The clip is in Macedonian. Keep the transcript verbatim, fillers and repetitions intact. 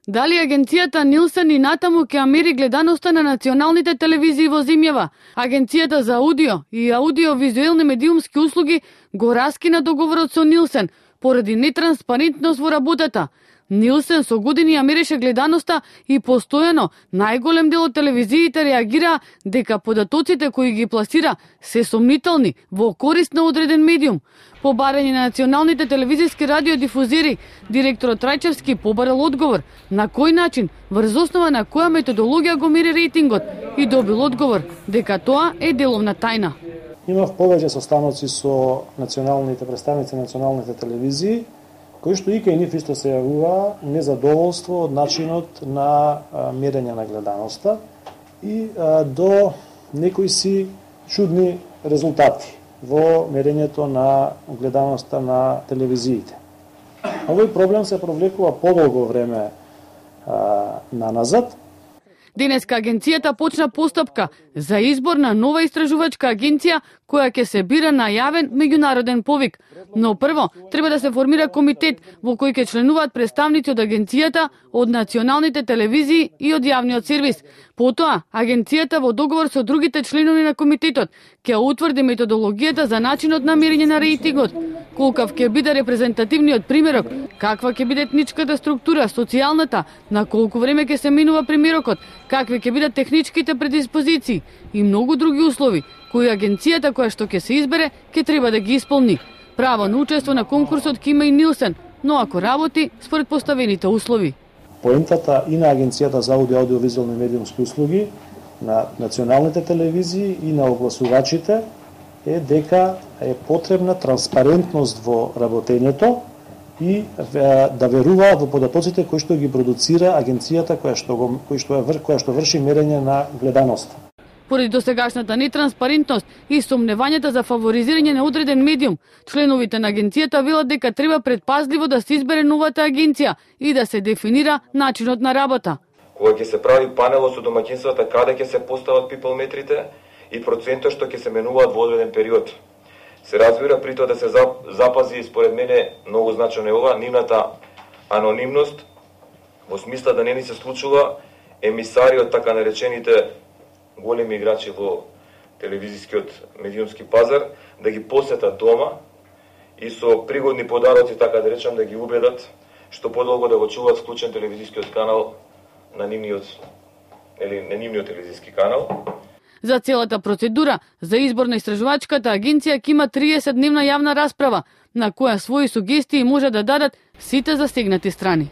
Дали агенцијата Нилсен и натаму ќе мери гледаноста на националните телевизии во земјава? Агенцијата за аудио и аудиовизуелни медиумски услуги го раскина договорот со Нилсен поради нетранспарентност во работата. Нилсен со години ја мереше гледаноста и постојано најголем дел од телевизиите реагира дека податоците кои ги пласира се сомнителни во корист на одреден медиум. По барање на националните телевизиски радиодифузери, директорот Трајчевски побарал одговор на кој начин, врз основа на која методологија го мери рейтингот и добил одговор дека тоа е деловна тајна. Имав повеќе состаноци со националните представници на националните телевизии, кои што и кај нив исто се јавува незадоволство од начинот на мерење на гледаноста и а, до некои си чудни резултати во мерењето на гледаноста на телевизиите. Овој проблем се провлекува подолго време а, наназад. Денеска агенцијата почна постапка за избор на нова истражувачка агенција која ќе се бира на јавен меѓународен повик. Но прво треба да се формира комитет во кој ќе членуваат представници од агенцијата, од националните телевизии и од јавниот сервис. Потоа, агенцијата во договор со другите членови на комитетот ќе утврди методологијата за начинот на мерење на рейтингот, колкав ќе биде репрезентативниот примерок, каква ќе биде етничката структура, социјалната, на колку време ќе се менува примерокот, какви ќе бидат техничките предиспозиции и многу други услови кои агенцијата која што ќе се избере ќе треба да ги исполни. Право на учество на конкурсот ќе има и Нилсен, но ако работи според поставените услови. Поентата и на Агенцијата за аудио аудиовизуелни медиумски услуги, на националните телевизии и на огласувачите е дека е потребна транспарентност во работењето и да веруваат во податоците кои што ги продуцира агенцијата која што го кој што е која што врши мерење на гледаноста. Поради досегашната нетранспарентност и сомневањата за фаворизирање на одреден медиум, членовите на агенцијата велат дека треба предпазливо да се избере новата агенција и да се дефинира начинот на работа. Кога ќе се прави панелот со домаќинствата каде ќе се постават пиплметрите и процентот што ќе се менуваат во одреден период. Се разбира при тоа да се запази, според мене многу значено е ова, нивната анонимност, во смисла да не ни се случува емисари од така наречените големи играчи во телевизискиот медиумски пазар да ги посетат дома и со пригодни подароци, така да речам, да ги убедат што подолго да го чуваат вклучен телевизискиот канал на нивниот или на нивниот телевизиски канал. За целата процедура за избор на истражувачката агенција ќе има триесет дневна јавна расправа, на која своји сугестии може да дадат сите засегнати страни.